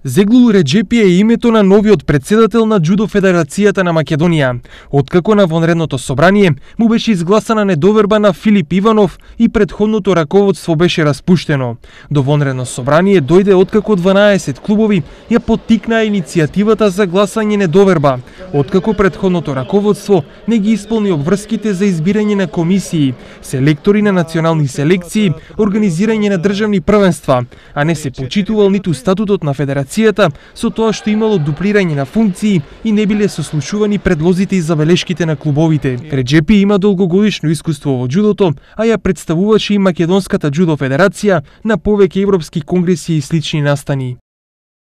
Зеглул Реджепи е името на новиот председател на Џудо Федерацијата на Македонија. Откако на вонредното собрание му беше изгласана недоверба на Филип Иванов и претходното раководство беше распуштено. До вонредно собрание дојде откако 12 клубови ја поттикнаа иницијативата за гласање недоверба, откако претходното раководство не ги исполни обврските за избирање на комисии, селектори на национални селекции, организирање на државни првенства, а не се почитувал ниту статутот на федерацијата со тоа што имало дуплирање на функции и не биле сослушувани предлозите и забелешките на клубовите. Реджепи има долгогодишно искуство во џудото, а ја представуваше и Македонската џудо федерација на повеќе европски конгреси и слични настани.